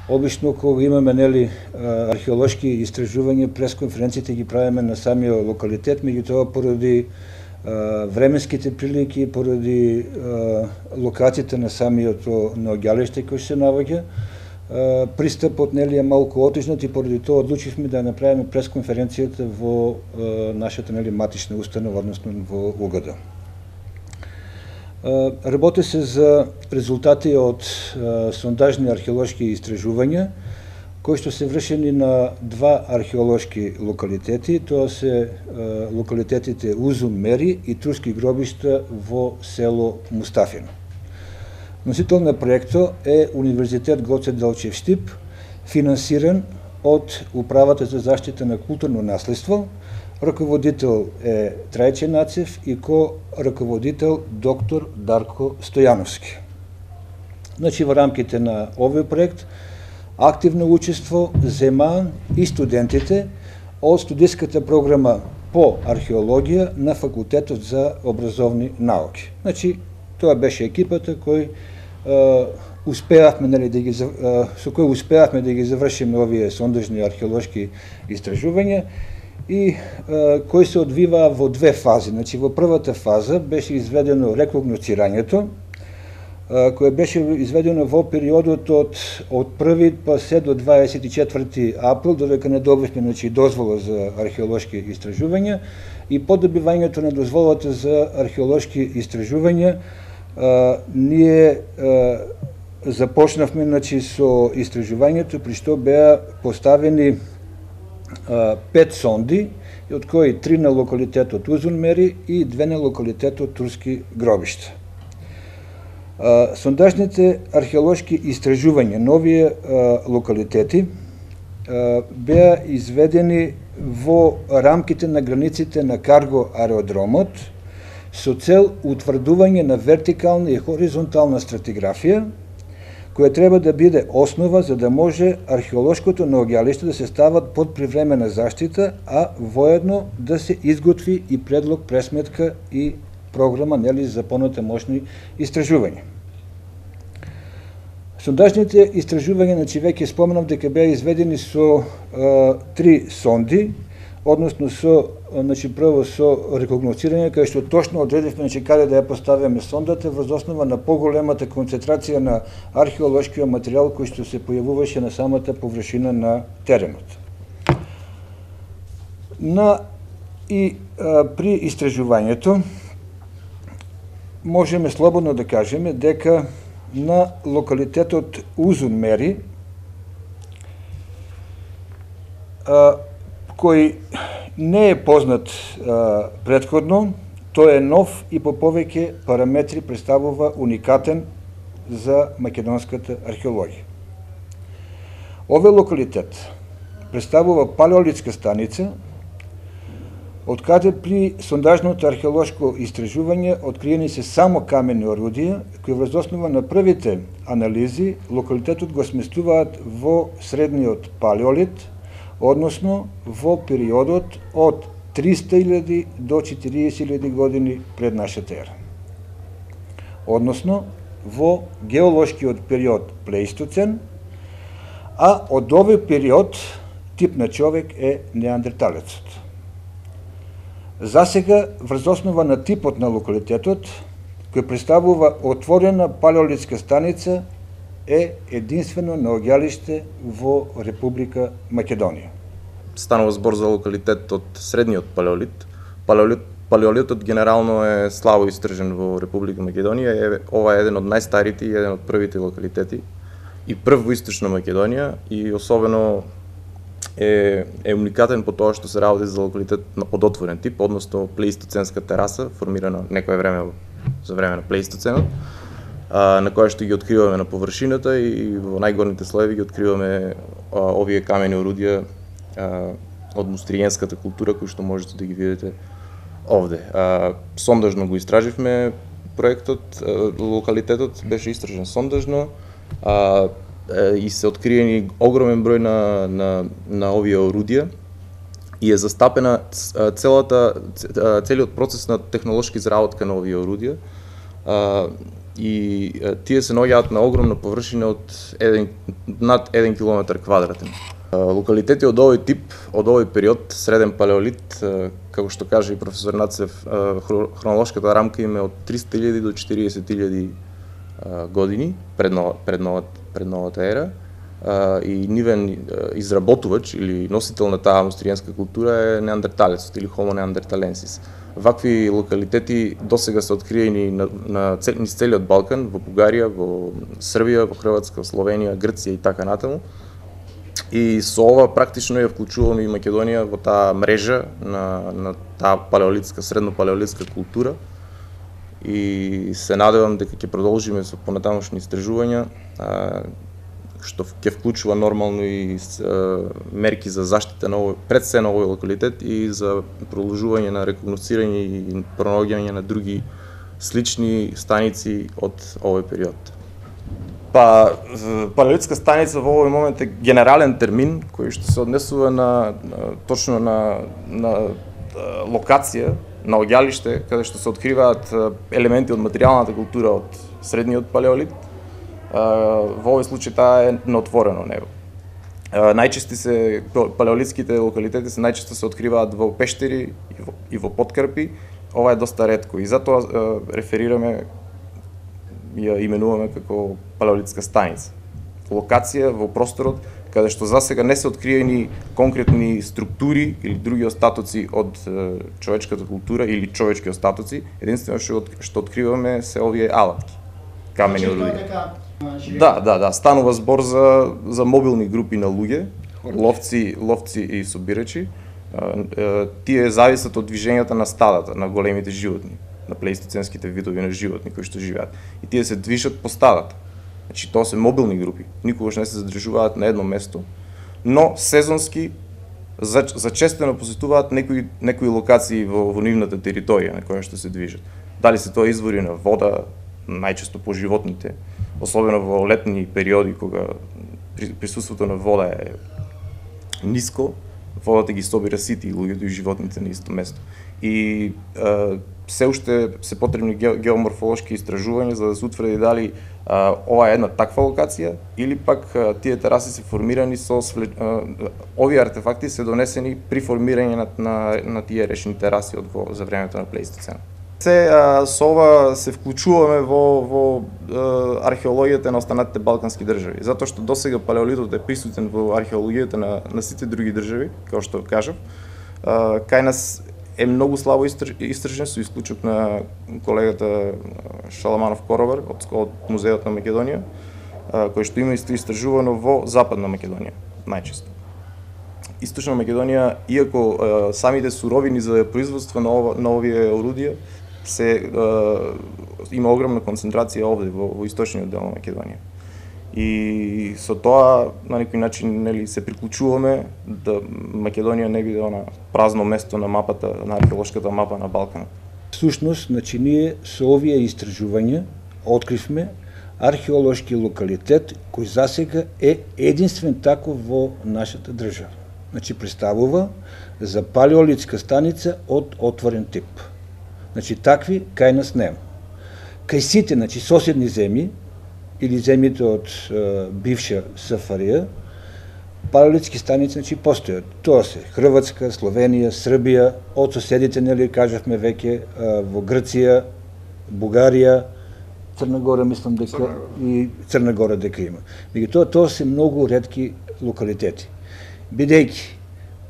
Обично кога имаме археолошки истражувања, пресконференциите ги правиме на самиот локалитет, меѓутоа поради временските прилики, поради локацијата на самиот наоѓалиште кој се наоѓа, пристапот е малку отежнат и поради тоа одлучивме да направиме пресконференцијата во нашата матична установа, односно во УГД. Работи се за резултати од сондажни археолошки истражувања, кои што се вршени на два археолошки локалитети, тоа се локалитетите Узун Мери и турски гробишта во село Мустафино. Носител на проектот е Универзитет Гоце Делчев Штип, финансиран од Управата за заштита на културно наследство. Раководител е Трајче Нацев и ко-раководител доктор Дарко Стојановски. Значи, во рамките на овој проект активно учество зема и студентите од студиската програма по археологија на Факултетот за образовни науки. Значи, тоа беше екипата кој успеавме со кој успеавме да ги завршиме овие сондажни археолошки истражувања и кои се одвиваа во две фази. Значи, во првата фаза беше изведено рекогносцирањето, кое беше изведено во периодот од 1 па се до 24 април, додека не добивме дозвола за археолошки истражувања, и по добивањето на дозволата за археолошки истражувања ние започнавме со истражувањето, при што беа поставени 5 сонди, од кои 3 на локалитетот Узун Мери и 2 на локалитетот Турски гробишта. Сондажните археолошки истражувања на овие локалитети беа изведени во рамките на границите на карго аеродромот со цел утврдување на вертикална и хоризонтална стратиграфија, која треба да биде основа за да може археолошкото наоѓалиште да се стават под привремена заштита, а воедно да се изготви и предлог, пресметка и програма за понатамошни истражувања. Сондажните истражувања, веќе споменав дека беа изведени со 3 сонди, односно прво со рекогносцирање, кај што точно одредивме каде да ја поставиме сондата врз основа на поголемата концентрација на археолошкиот материјал кој што се појавуваше на самата површина на теренот. При истражувањето можеме слободно да кажеме дека на локалитетот Узун Мери, кој не е познат претходно, тој е нов и по повеќе параметри представува уникатен за македонската археологија. Овој локалитет представува палеолитска станица, од каде при сондажното археолошко истражување откриени се само камени орудија, кои врз основа на првите анализи локалитетот го сместуваат во средниот палеолит, односно во периодот од 300.000 до 40.000 години пред нашата ера. Односно во геолошкиот период Плеистоцен, а од овој период тип на човек е неандерталецот. Засега, врз основа на типот на локалитетот, кој представува отворена палеолитска станица, е единствено наоѓалиште во Република Македонија. Станува збор за локалитет од средниот палеолит. Палеолитот генерално е слабо истражен во Република Македонија. Ова е еден од најстарите и еден од првите локалитети и прв во Источна Македонија, и особено е уникатен по тоа што се работи за локалитет од отворен тип, односно плеистоценска тераса, формирана некое време за време на плеистоценот, на која што ги откриваме на површината и во најгорните слоеви ги откриваме овие камени орудија од мустриенската култура, кои што можете да ги видите овде. Сондажно го истраживме проектот, локалитетот беше истражен сондажно, и се откриени огромен број на овие орудија и е застапена целиот процес на технолошки изработка на овие орудија. и тие се наоѓаат на огромна површина од над 1 километар квадратен. Локалитети од овој тип, од овој период, среден палеолит, како што каже и професор Нацев, хронолошката рамка им е од 300.000 до 40.000 години пред новата ера, и нивен изработувач или носител на таа амустриенска култура е неандерталецот или Homo neanderthalensis. Вакви локалитети досега се откриени на целиот Балкан, во Бугарија, во Србија, во Хрватска, Словенија, Грција и така натаму. И со ова практично ја вклучуваме и Македонија во таа мрежа на таа палеолитска, средно-палеолитска култура. И се надевам дека ќе продолжиме со понатамошни истражувања, што ќе вклучува нормално и мерки за заштита пред се на овој локалитет и за продолжување на рекогносцирање и пронаоѓање на други слични станици од овој период. Палеолитска станица во овој момент е генерален термин кој што се однесува точно на локација, на оѓалиште, каде што се откриваат елементи од материјалната култура од средниот палеолит. Во овој случај таа е на отворено небо. Палеолитските локалитети најчесто се откриваат во пештери и во поткрпи. Ова е доста ретко и затоа реферираме, ја именуваме како палеолитска станица. Локација во просторот каде што засега не се откриени конкретни структури или други остатоци од човечката култура или човечки остатоци, единствено што откриваме се овие алатки, камени орудија. Да, станува збор за мобилни групи на луѓе, ловци и собирачи. Тие зависат од движењата на стадата, на големите животни, на плеистоценските видови на животни кои што живеат. И тие се движат по стадата. Значи, тоа се мобилни групи, никогаш не се задржуваат на едно место, но сезонски зачестено посетуваат некои локации во нивната територија на која што се движат. Дали се тоа извори на вода, најчесто по животните, особено во летни периоди кога присуството на вода е ниско, водата ги собира сите и луѓето и животните на исто место. И се уште се потребни геоморфолошки истражувања за да се утврди дали ова е една таква локација или пак тие тераси се формирани овие артефакти се донесени при формирање на тие речни тераси за времето на плеистоцен. Со ова се вклучуваме во археологијата на останатите балкански држави, затоа што досега палеолитот е присутен во археологијата на сите други држави, како што кажав. Кај нас е многу слабо истражен, со исклучок на колегата Шаламанов Коробар од Музеот на Македонија, кој што има истражувано во Западна Македонија, најчесто. Источна Македонија, иако самите суровини за производство на овие орудија има огромна концентрација овде во источниот дел на Македонија. И со тоа на некој начин се приклучуваме да Македонија не биде она празно место на мапата, на археолошката мапа на Балканот. Всушност, ние со овие истражувања откривме археолошки локалитет кој засега е единствен таков во нашата држава. Представува за палеолитска станица од отворен тип. Такви кај нас нема. Кај сите, соседни земји или земјите од бивша СФРЈ, палеолитски станици постојат. Тоа се Хрватска, Словенија, Србија, од соседите, кажавме веќе, во Грција, Бугарија, Црна Гора, мислам дека и Црна Гора дека има. Тоа се многу ретки локалитети. Бидејќи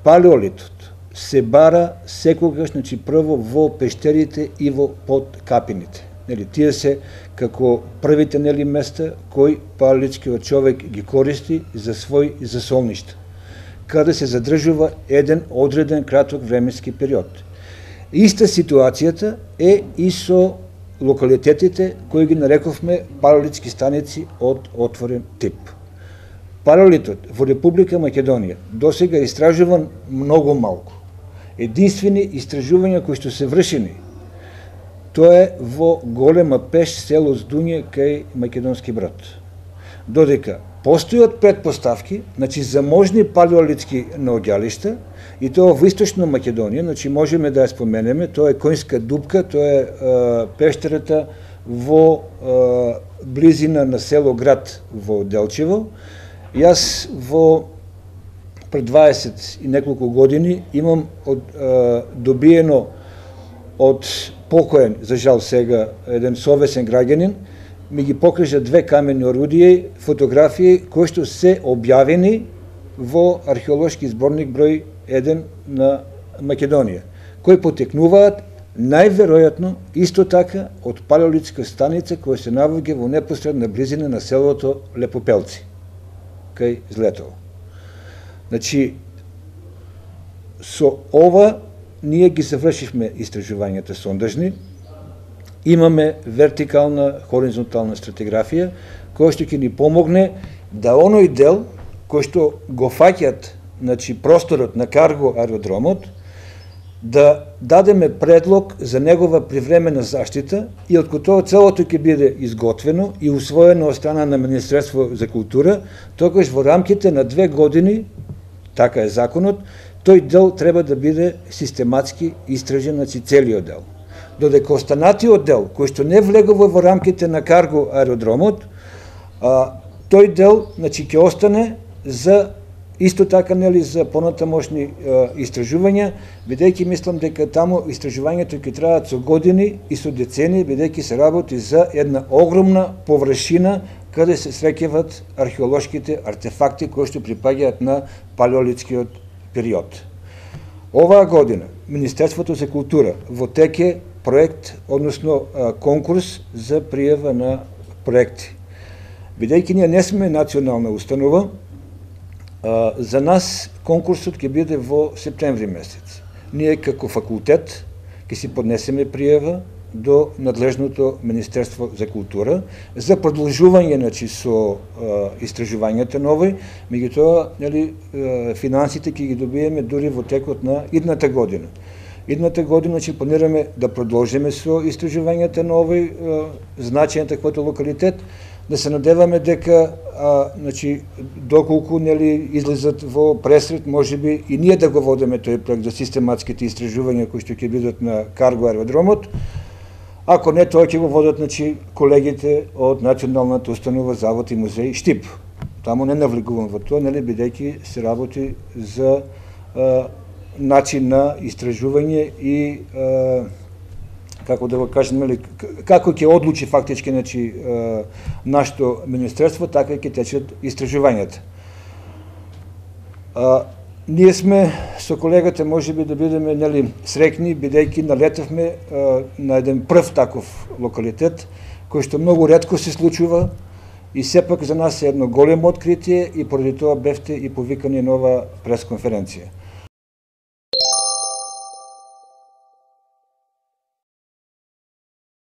палеолитот се бара секогаш, прво во пештерите и во подкапините. Тие се како првите места кои палеолитскиот човек ги користи за свој засолништа, каде се задржува еден одреден краток временски период. Иста ситуацијата е и со локалитетите кои ги нарековме палеолитски станици од отворен тип. Палеолитот во Република Македонија досега е истражуван многу малку. Единствени истражувања кои што се вршени, тоа е во голема пеш село Здуње кај Македонски Брод. Додека постојат предпоставки, за можни палеолитски наоѓалишта, и тоа во Источна Македонија, можеме да ја споменеме, тоа е Коњска дупка, тоа е пештерата во близина на село Град во Делчево. Јас во пред 20 и неколку години имам добиено од покоен, за жал сега, еден совесен граѓанин, ми ги покажа 2 камени орудија, фотографии кои што се објавени во археолошки зборник број 1 на Македонија, кои потекнуваат најверојатно исто така од палеолитска станица која се наоѓа во непосредна близина на селото Лепопелци, кај Злетово. Значи, со ова ние ги завршивме истражувањата сондажни, имаме вертикална, хоризонтална стратиграфија, која што ќе ни помогне да оној дел кој што го фаќат, значи, просторот на карго аеродромот, да дадеме предлог за негова привремена заштита и од тоа целото ќе биде изготвено и усвоено од страна на Министерство за култура, тогаш во рамките на 2 години, така е законот, тој дел треба да биде систематски истражен, значи целиот дел. Додека останатиот дел, кој што не влегува во рамките на карго аеродромот, тој дел, значи, ќе остане за исто така, нели, за понатамошни истражувања, бидејќи мислам дека таму истражувањето ќе траат со години и со децени, бидејќи се работи за една огромна површина каде се среќават археолошките артефакти кои што припаѓаат на палеолитскиот период. Оваа година Министерството за култура во теке проект, односно конкурс за пријава на проекти. Бидејќи ние не сме национална установа, за нас конкурсот ќе биде во септември месец. Ние како факултет ќе си поднесеме пријава до надлежното Министерство за култура за продолжување, значи, со истражувањата нови, меѓутоа, нели, финансите ќе ги добиеме дури во текот на идната година. Идната година ќе планираме да продолжиме со истражувањата нови, значајен таквото локалитет, да се надеваме дека, значи, доколку, нели, излезат во пресред, можеби и ние да го водиме тој проект за систематските истражувања кои што ќе бидат на карго аеродромот. Ако не, тоа ќе го водат, значи, колегите од Националната установа Завод и музеј Штип. Таму не навлегувам во тоа, нели, бидејќи се работи за начин на истражување и како да го кажем, нели, како ќе одлучи фактички, значи, нашето министерство, така ќе течат истражувањата. Ние сме со колегата можеби да бидеме, нели, среќни, бидејќи налетавме на еден прв таков локалитет, кој што многу ретко се случува и сепак за нас е едно големо откритие и поради тоа бевте и повикани нова пресконференција.